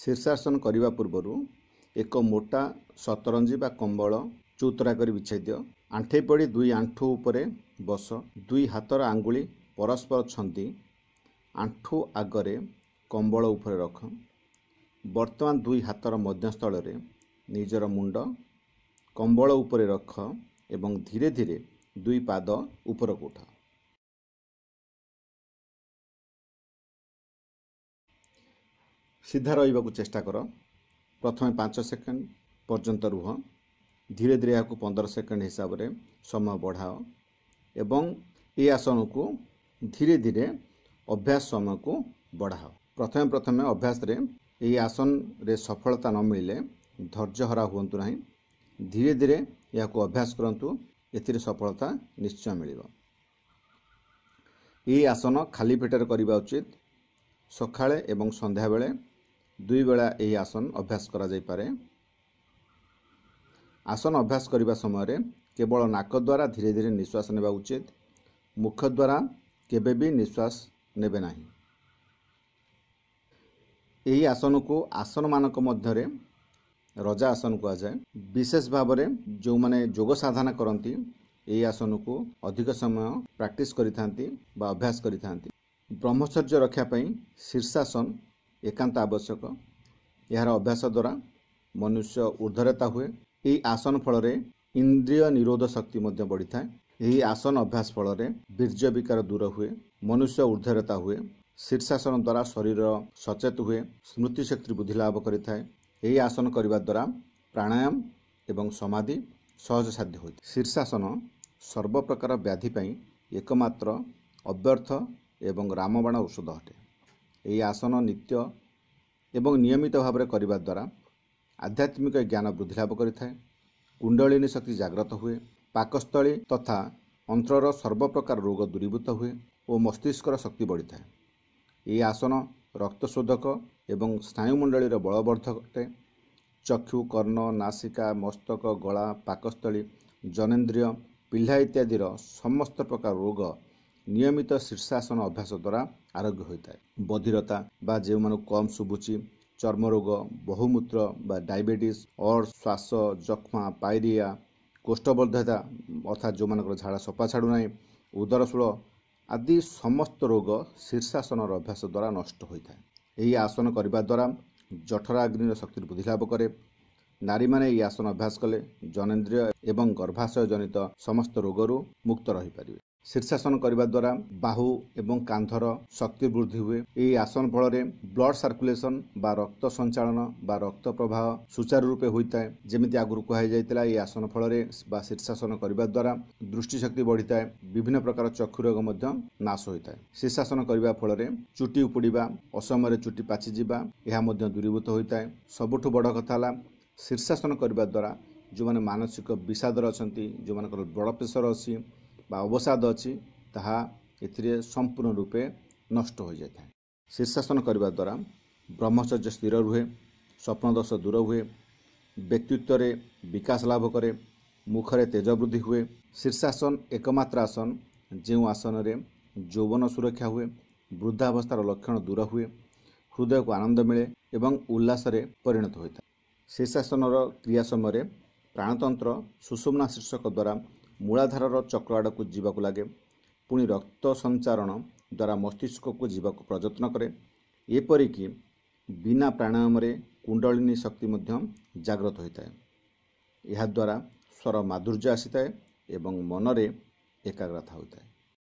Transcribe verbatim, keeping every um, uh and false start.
ଶୀର୍ଷାସନ କରିବା ପୂର୍ବରୁ ଏକ ମୋଟା ସତରଞ୍ଜି ବା କମ୍ବଳ ଚଉତରା କରି ବିଛାଇ ଦିଅ। ଆଣ୍ଠେଇ ପଡ଼ି ଦୁଇ ଆଣ୍ଠୁ ଉପରେ ବସ। ଦୁଇ ହାତର ଆଙ୍ଗୁଳି ପରସ୍ପର ଛନ୍ଦି ଆଣ୍ଠୁ ଆଗରେ କମ୍ବଳ ଉପରେ ରଖ। ବର୍ତ୍ତମାନ ଦୁଇ ହାତର ମଧ୍ୟସ୍ଥଳରେ ନିଜର ମୁଣ୍ଡ କମ୍ବଳ ଉପରେ ରଖ ଏବଂ ଧୀରେ ଧୀରେ ଦୁଇ ପାଦ ଉପରକୁ ଉଠାଅ। ସିଧା ରହିବାକୁ ଚେଷ୍ଟା କର। ପ୍ରଥମେ ପାଞ୍ଚ ସେକେଣ୍ଡ ପର୍ଯ୍ୟନ୍ତ ରୁହ। ଧୀରେ ଧୀରେ ଏହାକୁ ପନ୍ଦର ସେକେଣ୍ଡ ହିସାବରେ ସମୟ ବଢ଼ାଅ ଏବଂ ଏହି ଆସନକୁ ଧୀରେ ଧୀରେ ଅଭ୍ୟାସ ସମୟକୁ ବଢ଼ାଅ। ପ୍ରଥମେ ପ୍ରଥମେ ଅଭ୍ୟାସରେ ଏହି ଆସନରେ ସଫଳତା ନ ମିଳିଲେ ଧୈର୍ଯ୍ୟହରା ହୁଅନ୍ତୁ ନାହିଁ। ଧୀରେ ଧୀରେ ଏହାକୁ ଅଭ୍ୟାସ କରନ୍ତୁ, ଏଥିରେ ସଫଳତା ନିଶ୍ଚୟ ମିଳିବ। ଏହି ଆସନ ଖାଲି ପେଟରେ କରିବା ଉଚିତ। ସକାଳେ ଏବଂ ସନ୍ଧ୍ୟାବେଳେ ଦୁଇ ବେଳା ଏହି ଆସନ ଅଭ୍ୟାସ କରାଯାଇପାରେ। ଆସନ ଅଭ୍ୟାସ କରିବା ସମୟରେ କେବଳ ନାକ ଦ୍ୱାରା ଧୀରେ ଧୀରେ ନିଶ୍ୱାସ ନେବା ଉଚିତ। ମୁଖ ଦ୍ୱାରା କେବେ ବି ନିଶ୍ୱାସ ନେବେ ନାହିଁ। ଏହି ଆସନକୁ ଆସନମାନଙ୍କ ମଧ୍ୟରେ ରଜା ଆସନ କୁହାଯାଏ। ବିଶେଷ ଭାବରେ ଯେଉଁମାନେ ଯୋଗ ସାଧନା କରନ୍ତି ଏହି ଆସନକୁ ଅଧିକ ସମୟ ପ୍ରାକ୍ଟିସ୍ କରିଥାନ୍ତି ବା ଅଭ୍ୟାସ କରିଥାନ୍ତି। ବ୍ରହ୍ମଚର୍ଯ୍ୟ ରକ୍ଷା ପାଇଁ ଶୀର୍ଷାସନ ଏକାନ୍ତ ଆବଶ୍ୟକ। ଏହାର ଅଭ୍ୟାସ ଦ୍ୱାରା ମନୁଷ୍ୟ ଉର୍ଦ୍ଧ୍ୱରେତା ହୁଏ। ଏହି ଆସନ ଫଳରେ ଇନ୍ଦ୍ରିୟ ନିରୋଧ ଶକ୍ତି ମଧ୍ୟ ବଢ଼ିଥାଏ। ଏହି ଆସନ ଅଭ୍ୟାସ ଫଳରେ ବୀର୍ଯ୍ୟ ବିକାର ଦୂର ହୁଏ, ମନୁଷ୍ୟ ଉର୍ଦ୍ଧ୍ୱରେତା ହୁଏ। ଶୀର୍ଷାସନ ଦ୍ୱାରା ଶରୀର ସଚେତ ହୁଏ, ସ୍ମୃତିଶକ୍ତି ବୃଦ୍ଧି ଲାଭ କରିଥାଏ। ଏହି ଆସନ କରିବା ଦ୍ୱାରା ପ୍ରାଣାୟାମ ଏବଂ ସମାଧି ସହଜ ସାଧ୍ୟ ହୋଇଥାଏ। ଶୀର୍ଷାସନ ସର୍ବପ୍ରକାର ବ୍ୟାଧି ପାଇଁ ଏକମାତ୍ର ଅବ୍ୟର୍ଥ ଏବଂ ରାମବାଣ ଔଷଧ ଅଟେ। ଏହି ଆସନ ନିତ୍ୟ ଏବଂ ନିୟମିତ ଭାବରେ କରିବା ଦ୍ୱାରା ଆଧ୍ୟାତ୍ମିକ ଜ୍ଞାନ ବୃଦ୍ଧି ଲାଭ କରିଥାଏ, କୁଣ୍ଡଳିନୀ ଶକ୍ତି ଜାଗ୍ରତ ହୁଏ, ପାକସ୍ଥଳୀ ତଥା ଅନ୍ତ୍ରର ସର୍ବପ୍ରକାର ରୋଗ ଦୂରୀଭୂତ ହୁଏ ଓ ମସ୍ତିଷ୍କର ଶକ୍ତି ବଢ଼ିଥାଏ। ଏହି ଆସନ ରକ୍ତଶୋଧକ ଏବଂ ସ୍ନାୟୁମଣ୍ଡଳୀର ବଳବର୍ଦ୍ଧକ ଅଟେ। ଚକ୍ଷୁ, କର୍ଣ୍ଣ, ନାସିକା, ମସ୍ତକ, ଗଳା, ପାକସ୍ଥଳୀ, ଜନେନ୍ଦ୍ରିୟ, ପିହ୍ଲା ଇତ୍ୟାଦିର ସମସ୍ତ ପ୍ରକାର ରୋଗ ନିୟମିତ ଶୀର୍ଷାସନ ଅଭ୍ୟାସ ଦ୍ୱାରା ଆରୋଗ୍ୟ ହୋଇଥାଏ। ବଧିରତା ବା ଯେଉଁମାନଙ୍କୁ କମ୍ ଶୁଭୁଛି, ଚର୍ମରୋଗ, ବହୁମୂତ୍ର ବା ଡାଇବେଟିସ୍, ଅର୍ଶ, ଶ୍ୱାସ, ଯକ୍ଷ୍ମା, ପାଇରିଆ, କୋଷ୍ଠବଦ୍ଧତା ଅର୍ଥାତ୍ ଯେଉଁମାନଙ୍କର ଝାଡ଼ା ସଫା ଛାଡ଼ୁନାହିଁ, ଉଦରଶୂଳ ଆଦି ସମସ୍ତ ରୋଗ ଶୀର୍ଷାସନର ଅଭ୍ୟାସ ଦ୍ୱାରା ନଷ୍ଟ ହୋଇଥାଏ। ଏହି ଆସନ କରିବା ଦ୍ୱାରା ଜଠରାଗ୍ନିର ଶକ୍ତି ବୃଦ୍ଧି ଲାଭ କରେ। ନାରୀମାନେ ଏହି ଆସନ ଅଭ୍ୟାସ କଲେ ଜନେନ୍ଦ୍ରିୟ ଏବଂ ଗର୍ଭାଶୟ ଜନିତ ସମସ୍ତ ରୋଗରୁ ମୁକ୍ତ ରହିପାରିବେ। ଶୀର୍ଷାସନ କରିବା ଦ୍ୱାରା ବାହୁ ଏବଂ କାନ୍ଧର ଶକ୍ତି ବୃଦ୍ଧି ହୁଏ। ଏହି ଆସନ ଫଳରେ ବ୍ଲଡ୍ ସାର୍କୁଲେସନ୍ ବା ରକ୍ତ ସଞ୍ଚାଳନ ବା ରକ୍ତ ପ୍ରବାହ ସୁଚାରୁ ରୂପେ ହୋଇଥାଏ। ଯେମିତି ଆଗରୁ କୁହାଯାଇଥିଲା, ଏହି ଆସନ ଫଳରେ ବା ଶୀର୍ଷାସନ କରିବା ଦ୍ୱାରା ଦୃଷ୍ଟିଶକ୍ତି ବଢ଼ିଥାଏ, ବିଭିନ୍ନ ପ୍ରକାର ଚକ୍ଷୁ ରୋଗ ମଧ୍ୟ ନାଶ ହୋଇଥାଏ। ଶୀର୍ଷାସନ କରିବା ଫଳରେ ଚୁଟି ଉପୁଡ଼ିବା, ଅସମୟରେ ଚୁଟି ପାଚିଯିବା ଏହା ମଧ୍ୟ ଦୂରୀଭୂତ ହୋଇଥାଏ। ସବୁଠୁ ବଡ଼ କଥା ହେଲା, ଶୀର୍ଷାସନ କରିବା ଦ୍ୱାରା ଯେଉଁମାନେ ମାନସିକ ବିଷାଦରେ ଅଛନ୍ତି, ଯେଉଁମାନଙ୍କର ବ୍ଲଡ଼ ପ୍ରେସର ଅଛି ବା ଅବସାଦ ଅଛି, ତାହା ଏଥିରେ ସମ୍ପୂର୍ଣ୍ଣ ରୂପେ ନଷ୍ଟ ହୋଇଯାଇଥାଏ। ଶୀର୍ଷାସନ କରିବା ଦ୍ୱାରା ବ୍ରହ୍ମଚର୍ଯ୍ୟ ସ୍ଥିର ରୁହେ, ସ୍ୱପ୍ନଦୋଷ ଦୂର ହୁଏ, ବ୍ୟକ୍ତିତ୍ୱରେ ବିକାଶ ଲାଭ କରେ, ମୁଖରେ ତେଜ ବୃଦ୍ଧି ହୁଏ। ଶୀର୍ଷାସନ ଏକମାତ୍ର ଆସନ ଯେଉଁ ଆସନରେ ଯୌବନ ସୁରକ୍ଷା ହୁଏ, ବୃଦ୍ଧାବସ୍ଥାର ଲକ୍ଷଣ ଦୂର ହୁଏ, ହୃଦୟକୁ ଆନନ୍ଦ ମିଳେ ଏବଂ ଉଲ୍ଲାସରେ ପରିଣତ ହୋଇଥାଏ। ଶୀର୍ଷାସନର କ୍ରିୟା ସମୟରେ ପ୍ରାଣତନ୍ତ୍ର ସୁଷୁମ୍ନା ଶୀର୍ଷକ ଦ୍ୱାରା ମୂଳାଧାରର ଚକ୍ର ଆଡ଼କୁ ଯିବାକୁ ଲାଗେ, ପୁଣି ରକ୍ତ ସଞ୍ଚାରଣ ଦ୍ୱାରା ମସ୍ତିଷ୍କକୁ ଯିବାକୁ ପ୍ରଯତ୍ନ କରେ। ଏପରିକି ବିନା ପ୍ରାଣାୟାମରେ କୁଣ୍ଡଳିନୀ ଶକ୍ତି ମଧ୍ୟ ଜାଗ୍ରତ ହୋଇଥାଏ। ଏହାଦ୍ୱାରା ସ୍ୱର ମାଧୁର୍ଯ୍ୟ ଆସିଥାଏ ଏବଂ ମନରେ ଏକାଗ୍ରତା ହୋଇଥାଏ।